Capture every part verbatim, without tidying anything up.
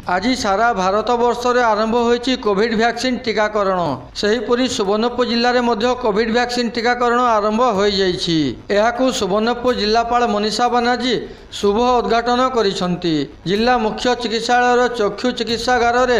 ଆଜି ସାରା ଭାରତବର୍ଷରେ ଆରମ୍ଭ ହୋଇଛି କୋଭିଡ୍ ଭ୍ୟାକ୍ସିନ୍ ଟିକାକରଣ। ସେହିପରି ସୁବର୍ଣ୍ଣପୁର ଜିଲ୍ଲାରେ ମଧ୍ୟ କୋଭିଡ୍ ଭ୍ୟାକ୍ସିନ୍ ଟିକାକରଣ ଆରମ୍ଭ ହୋଇଯାଇଛି। ଏହାକୁ ସୁବର୍ଣ୍ଣପୁର ଜିଲ୍ଲାପାଳ ମନୀଷା ବାନାର୍ଜୀ ଶୁଭ ଉଦ୍ଘାଟନ କରିଛନ୍ତି। ଜିଲ୍ଲା ମୁଖ୍ୟ ଚିକିତ୍ସାଳୟର ଚକ୍ଷୁ ଚିକିତ୍ସାଗାରରେ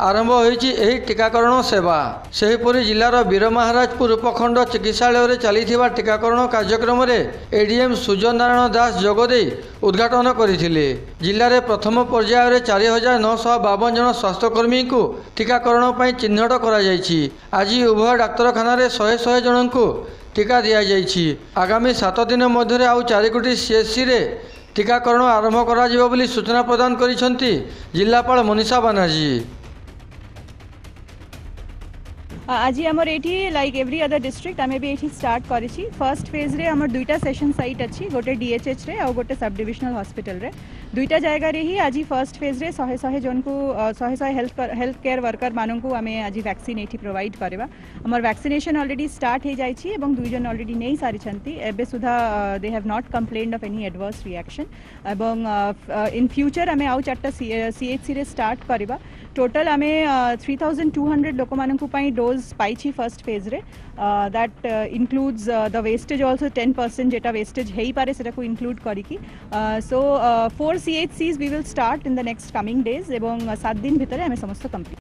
ଆରମ୍ଭ ହୋଇଛି ଏହି ଟିକାକରଣ ସେବା। ସେହିପରି ଜିଲ୍ଲାର ବୀରମହାରାଜପୁର ଉପଖଣ୍ଡ ଚିକିତ୍ସାଳୟରେ ଚାଲିଥିବା ଟିକାକରଣ କାର୍ଯ୍ୟକ୍ରମରେ ଏଡିଏମ୍ ସୂର୍ଯ୍ୟ ନାରାୟଣ ଦାସ ଯୋଗଦେଇ ଉଦ୍ଘାଟନ କରିଥିଲେ। ଜିଲ୍ଲାରେ ପ୍ରଥମ ପର୍ଯ୍ୟାୟରେ ଚାରି ହଜାର ନଅଶହ ବାବନ ଜଣ ସ୍ୱାସ୍ଥ୍ୟକର୍ମୀଙ୍କୁ ଟିକାକରଣ ପାଇଁ ଚିହ୍ନଟ କରାଯାଇଛି। ଆଜି ଉଭୟ ଡାକ୍ତରଖାନାରେ ଶହେ ଶହେ ଜଣଙ୍କୁ ଟିକା ଦିଆଯାଇଛି। ଆଗାମୀ ସାତ ଦିନ ମଧ୍ୟରେ ଆଉ ଚାରିଗୋଟି ସିଏଚ୍ସିରେ ଟିକାକରଣ ଆରମ୍ଭ କରାଯିବ ବୋଲି ସୂଚନା ପ୍ରଦାନ କରିଛନ୍ତି ଜିଲ୍ଲାପାଳ ମନୀଷା ବାନାର୍ଜୀ। ଆଜି ଆମର ଏଇଠି, ଲାଇକ୍ ଏଭ୍ରି ଅଦର ଡିଷ୍ଟ୍ରିକ୍ଟ, ଆମେ ବି ଏଇଠି ଷ୍ଟାର୍ଟ କରିଛି। ଫର୍ଷ୍ଟ ଫେଜ୍ରେ ଆମର ଦୁଇଟା ସେସନ୍ ସାଇଟ୍ ଅଛି, ଗୋଟେ ଡିଏଚ୍ଏଚ୍ରେ ଆଉ ଗୋଟେ ସବ୍ ଡିଭିଜନାଲ ହସ୍ପିଟାଲରେ। ଦୁଇଟା ଜାଗାରେ ହିଁ ଆଜି ଫର୍ଷ୍ଟ ଫେଜ୍ରେ ଶହେ ଶହେ ଜଣକୁ, ଶହେ ଶହେ ହେଲ୍ଥ ହେଲ୍ଥ କେୟାର ୱାର୍କରମାନଙ୍କୁ ଆମେ ଆଜି ଭ୍ୟାକ୍ସିନ୍ ଏଇଠି ପ୍ରୋଭାଇଡ଼ କରିବା। ଆମର ଭ୍ୟାକ୍ସିନେସନ୍ ଅଲରେଡ଼ି ଷ୍ଟାର୍ଟ ହେଇଯାଇଛି ଏବଂ ଦୁଇ ଜଣ ଅଲରେଡ଼ି ନେଇ ସାରିଛନ୍ତି। ଏବେ ସୁଦ୍ଧା they have not complained of any adverse reaction ଏବଂ ଇନ୍ ଫ୍ୟୁଚର୍ ଆମେ ଆଉ ଚାରିଟା ସିଏଚ୍ସିରେ ଷ୍ଟାର୍ଟ କରିବା। ଟୋଟାଲ ଆମେ ଥ୍ରୀ ଥାଉଜେଣ୍ଡ ଟୁ ହଣ୍ଡ୍ରେଡ଼ ଲୋକମାନଙ୍କ ପାଇଁ ଡୋଜ୍ ପାଇଛି ଫର୍ଷ୍ଟ ଫେଜ୍ରେ। That includes the wastage also, ten percent ଯେଟା ୱେଷ୍ଟେଜ୍ ହେଇପାରେ ସେଟାକୁ ଇନକ୍ଲୁଡ୍ କରିକି। So four C H Cs we will start in the next coming days ଏବଂ ସାତ ଦିନ ଭିତରେ ଆମେ ସମସ୍ତ କମ୍ପ୍ଲିଟ୍